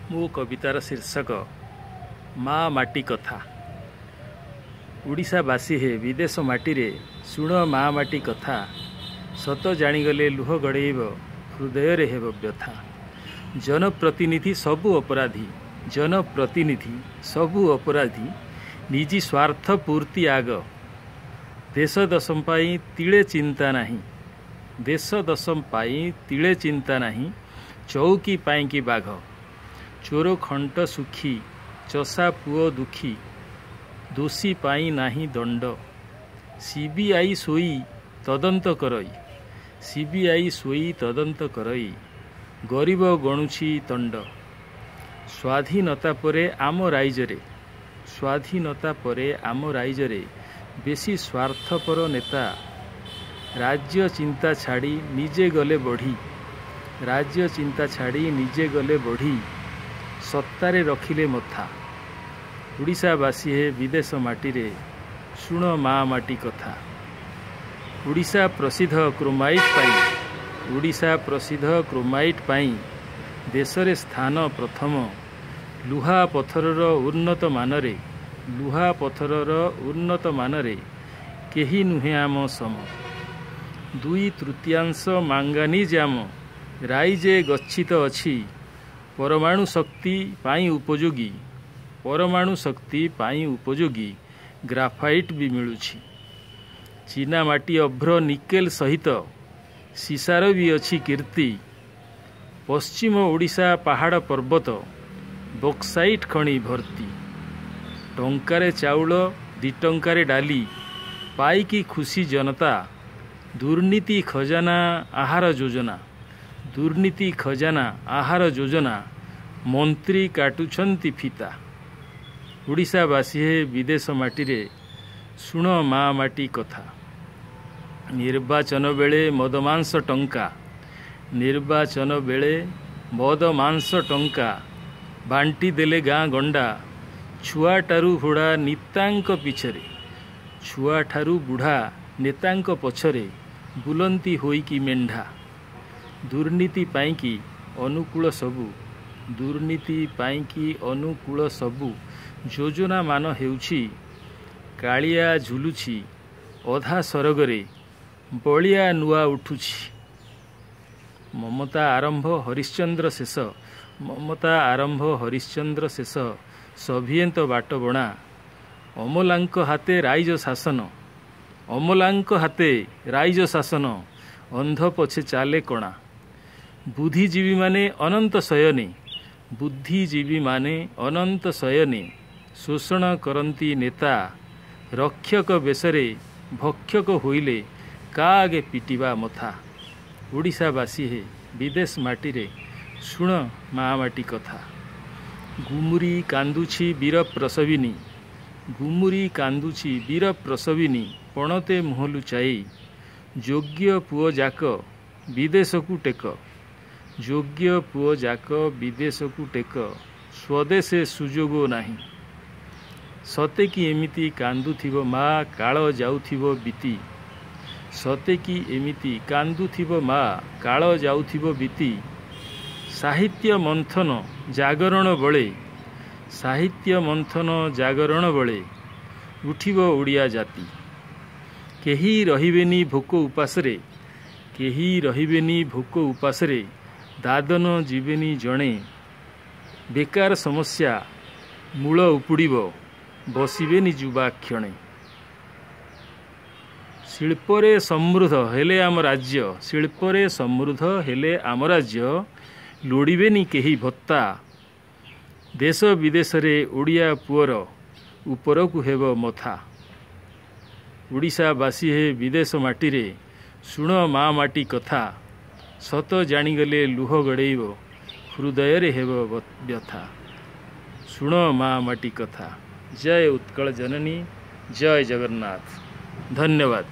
ମୋ କବିତାର ଶୀର୍ଷକ ମା ମାଟି କଥା। ଓଡ଼ିଶାବାସୀ ହେ ବିଦେଶ ମାଟିରେ ଶୁଣ ମା ମାଟି କଥା। ସତ ଜାଣିଗଲେ ଲୁହ ଗଡ଼େଇବ, ହୃଦୟରେ ହେବ ବ୍ୟଥା। ଜନପ୍ରତିନିଧି ସବୁ ଅପରାଧୀ, ଜନପ୍ରତିନିଧି ସବୁ ଅପରାଧୀ, ନିଜି ସ୍ୱାର୍ଥ ପୂର୍ତ୍ତି ଆଗ। ଦେଶ ଦଶ ପାଇଁ ତିଳେ ଚିନ୍ତା ନାହିଁ, ଦେଶ ଦଶ ପାଇଁ ତିଳେ ଚିନ୍ତା ନାହିଁ, ଚଉକି ପାଇଁକି ବାଘ। ଚୋର ଖଣ୍ଟ ସୁଖୀ, ଚଷା ପୁଅ ଦୁଃଖୀ, ଦୋଷୀ ପାଇଁ ନାହିଁ ଦଣ୍ଡ। ସିବିଆଇ ଶୋଇ ତଦନ୍ତ କରଇ, ସିବିଆଇ ଶୋଇ ତଦନ୍ତ କରଇ, ଗରିବ ଗଣୁଛି ତଣ୍ଡ। ସ୍ୱାଧୀନତା ପରେ ଆମ ରାଇଜରେ, ସ୍ୱାଧୀନତା ପରେ ଆମ ରାଇଜରେ ବେଶୀ ସ୍ୱାର୍ଥପର ନେତା। ରାଜ୍ୟ ଚିନ୍ତା ଛାଡ଼ି ନିଜେ ଗଲେ ବଢ଼ି, ରାଜ୍ୟ ଚିନ୍ତା ଛାଡ଼ି ନିଜେ ଗଲେ ବଢ଼ି, ସତ୍ତାରେ ରଖିଲେ ମଥା। ଓଡ଼ିଶାବାସୀ ହେ ବିଦେଶ ମାଟିରେ ଶୁଣ ମା ମାଟି କଥା। ଓଡ଼ିଶା ପ୍ରସିଦ୍ଧ କ୍ରୋମାଇଟ୍ ପାଇଁ, ଓଡ଼ିଶା ପ୍ରସିଦ୍ଧ କ୍ରୋମାଇଟ୍ ପାଇଁ ଦେଶରେ ସ୍ଥାନ ପ୍ରଥମ। ଲୁହା ପଥରର ଉନ୍ନତ ମାନରେ, ଲୁହା ପଥରର ଉନ୍ନତ ମାନରେ କେହି ନୁହେଁ ଆମ ସମ। 2/3 ମାଙ୍ଗାନିଜ୍ ଆମ ରାଇଜେ ଗଚ୍ଛିତ ଅଛି। ପରମାଣୁ ଶକ୍ତି ପାଇଁ ଉପଯୋଗୀ, ପରମାଣୁ ଶକ୍ତି ପାଇଁ ଉପଯୋଗୀ ଗ୍ରାଫାଇଟ୍ ବି ମିଳୁଛି। ଚୀନା ମାଟି ଅଭ୍ର ନିକେଲ ସହିତ ସୀସାର ବି ଅଛି କୀର୍ତ୍ତି। ପଶ୍ଚିମ ଓଡ଼ିଶା ପାହାଡ଼ ପର୍ବତ ବକ୍ସାଇଟ୍ ଖଣି ଭର୍ତ୍ତି। ଟଙ୍କାରେ ଚାଉଳ, 2 ଟଙ୍କାରେ ଡାଲି ପାଇକି ଖୁସି ଜନତା। ଦୁର୍ନୀତି ଖଜାନା ଆହାର ଯୋଜନା, ଦୁର୍ନୀତି ଖଜାନା ଆହାର ଯୋଜନା, ମନ୍ତ୍ରୀ କାଟୁଛନ୍ତି ଫିତା। ଓଡ଼ିଶାବାସୀ ହେ ବିଦେଶ ମାଟିରେ ଶୁଣ ମା ମାଟି କଥା। ନିର୍ବାଚନ ବେଳେ ମଦମାଂସ ଟଙ୍କା, ନିର୍ବାଚନ ବେଳେ ମଦ ମାଂସ ଟଙ୍କା ବାଣ୍ଟି ଦେଲେ ଗାଁ ଗଣ୍ଡା। ଛୁଆଠାରୁ ବୁଢ଼ା ନେତାଙ୍କ ପିଛରେ, ଛୁଆଠାରୁ ବୁଢ଼ା ନେତାଙ୍କ ପଛରେ ବୁଲନ୍ତି ହୋଇକି ମେଣ୍ଢା। ଦୁର୍ନୀତି ପାଇଁକି ଅନୁକୂଳ ସବୁ, ଦୁର୍ନୀତି ପାଇଁକି ଅନୁକୂଳ ସବୁ ଯୋଜନା ମାନ ହେଉଛି। କାଳିଆ ଝୁଲୁଛି ଅଧା ସରଗରେ, ବଳିଆ ନୂଆ ଉଠୁଛି। ମମତା ଆରମ୍ଭ ହରିଶ୍ଚନ୍ଦ୍ର ଶେଷ, ମମତା ଆରମ୍ଭ ହରିଶ୍ଚନ୍ଦ୍ର ଶେଷ, ସଭିଏନ୍ତ ବାଟ ବଣା। ଅମଲାଙ୍କ ହାତେ ରାଇଜ ଶାସନ, ଅମଲାଙ୍କ ହାତେ ରାଇଜ ଶାସନ, ଅନ୍ଧ ପଛେ ଚାଲେ କଣା। ବୁଦ୍ଧିଜୀବୀମାନେ ଅନନ୍ତ ଶୟନେ, ବୁଦ୍ଧିଜୀବୀମାନେ ଅନନ୍ତ ଶୟନେ, ଶୋଷଣ କରନ୍ତି ନେତା। ରକ୍ଷକ ବେଶରେ ଭକ୍ଷକ ହୋଇଲେ କା ଆଗେ ପିଟିବା ମଥା। ଓଡ଼ିଶାବାସୀ ହେ ବିଦେଶ ମାଟିରେ ଶୁଣ ମା ମାଟି କଥା। ଗୁମୁରି କାନ୍ଦୁଛି ବୀର ପ୍ରସବିନୀ, ଗୁମୁରି କାନ୍ଦୁଛି ବୀର ପ୍ରସବିନୀ, ପଣତେ ମୁହଁ ଲୁଚାଇ। ଯୋଗ୍ୟ ପୁଅ ଯାକ ବିଦେଶକୁ ଟେକ, ଯୋଗ୍ୟ ପୁଅ ଯାକ ବିଦେଶକୁ ଟେକ, ସ୍ୱଦେଶେ ସୁଯୋଗ ନାହିଁ। ସତେ କି ଏମିତି କାନ୍ଦୁଥିବ ମା କାଳ ଯାଉଥିବ ବିତି, ସତେ କି ଏମିତି କାନ୍ଦୁଥିବ ମା କାଳ ଯାଉଥିବ ବିତି। ସାହିତ୍ୟ ମନ୍ଥନ ଜାଗରଣ ବଳେ, ସାହିତ୍ୟ ମନ୍ଥନ ଜାଗରଣ ବଳେ, ଉଠିବ ଓଡ଼ିଆ ଜାତି। କେହି ରହିବେନି ଭୋକ ଉପାସରେ, କେହି ରହିବେନି ଭୋକ ଉପାସରେ, ଦାଦନ ଯିବେନି ଜଣେ। ବେକାର ସମସ୍ୟା ମୂଳ ଉପୁଡ଼ିବ, ବସିବେନି ଯୁବା କ୍ଷଣେ। ଶିଳ୍ପରେ ସମୃଦ୍ଧ ହେଲେ ଆମ ରାଜ୍ୟ, ଶିଳ୍ପରେ ସମୃଦ୍ଧ ହେଲେ ଆମ ରାଜ୍ୟ, ଲୋଡ଼ିବେନି କେହି ଭତ୍ତା। ଦେଶ ବିଦେଶରେ ଓଡ଼ିଆ ପୁଅର ଉପରକୁ ହେବ ମଥା। ଓଡ଼ିଶାବାସୀ ହେ ବିଦେଶ ମାଟିରେ ଶୁଣ ମା ମାଟି କଥା। ସତ ଜାଣିଗଲେ ଲୁହ ଗଡ଼େଇବ, ହୃଦୟରେ ହେବ ବ୍ୟଥା। ଶୁଣ ମା ମାଟି କଥା। ଜୟ ଉତ୍କଳ ଜନନୀ, ଜୟ ଜଗନ୍ନାଥ। ଧନ୍ୟବାଦ।